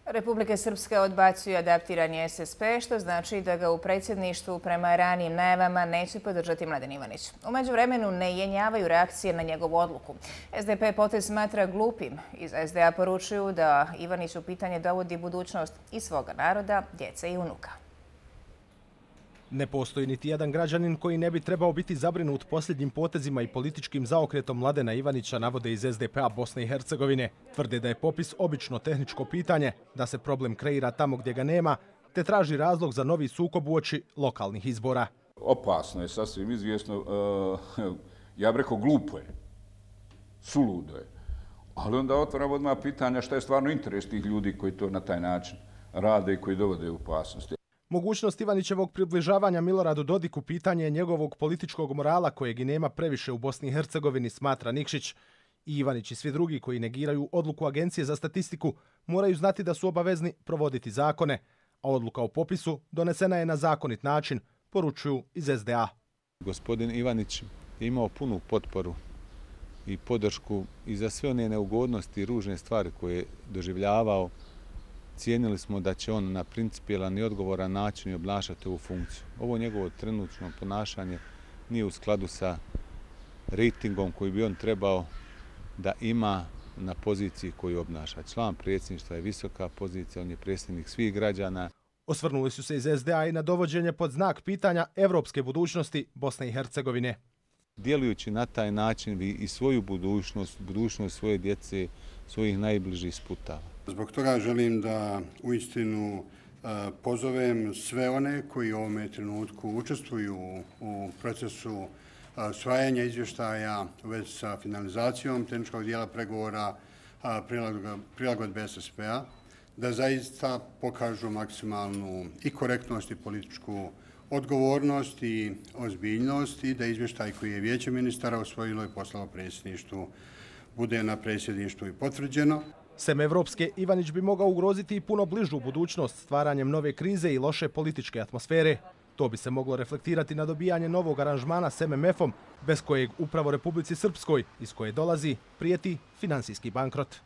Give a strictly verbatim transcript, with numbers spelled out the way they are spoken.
Republike Srpske odbacuju adaptirani S S P, što znači da ga u predsjedništvu prema ranijim najavama neće podržati Mladen Ivanić. U međuvremenu ne jenjavaju reakcije na njegovu odluku. S D P potez smatra glupim. Iz S D A poručuju da Ivanić u pitanje dovodi budućnost i svoga naroda, djece i unuka. Ne postoji niti jedan građanin koji ne bi trebao biti zabrinut posljednjim potezima i političkim zaokretom Mladena Ivanića, navode iz S D P-a Bosne i Hercegovine. Tvrde da je popis obično tehničko pitanje, da se problem kreira tamo gdje ga nema, te traži razlog za novi sukob uoči lokalnih izbora. Opasno je, sasvim izvjesno, ja bih rekao glupo je, suludo je. Ali onda otvaramo odmah pitanja šta je stvarno interes tih ljudi koji to na taj način rade i koji dovode u opasnost. Mogućnost Ivanićevog približavanja Miloradu Dodiku pitanje je njegovog političkog morala kojeg i nema previše u Bosni i Hercegovini, smatra Nikšić. I Ivanić i svi drugi koji negiraju odluku Agencije za statistiku moraju znati da su obavezni provoditi zakone, a odluka o popisu donesena je na zakonit način, poručuju iz S D A. Gospodin Ivanić je imao punu potporu i podršku i za sve one neugodnosti i ružne stvari koje je doživljavao. Cijenili smo da će on na principijelan i odgovoran način obnašati ovu funkciju. Ovo njegovo trenutno ponašanje nije u skladu sa rejtingom koji bi on trebao da ima na poziciji koju obnaša. Član predsjedništva je visoka pozicija, on je predsjednik svih građana. Osvrnuli su se iz S D A i na dovođenje pod znak pitanja evropske budućnosti Bosne i Hercegovine. Djelujući na taj način vi i svoju budućnost, budućnost svoje djece, svojih najbližih sputava. Zbog toga želim da uistinu pozovem sve one koji u ovome trenutku učestvuju u procesu usvajanja izvještaja u vezi sa finalizacijom tehničkog dijela pregovora prilagodbe S S P-a, da zaista pokažu maksimalnu i korektnost i političku odgovornost i ozbiljnost i da izvještaj koji je Vijeće ministara usvojilo i poslalo predsjedništvu bude na predsjedništvu i potvrđeno. Sem evropske, Ivanić bi mogao ugroziti i puno bližu budućnost stvaranjem nove krize i loše političke atmosfere. To bi se moglo reflektirati na dobijanje novog aranžmana s M M F-om, bez kojeg upravo Republici Srpskoj, iz koje dolazi, prijeti finansijski bankrot.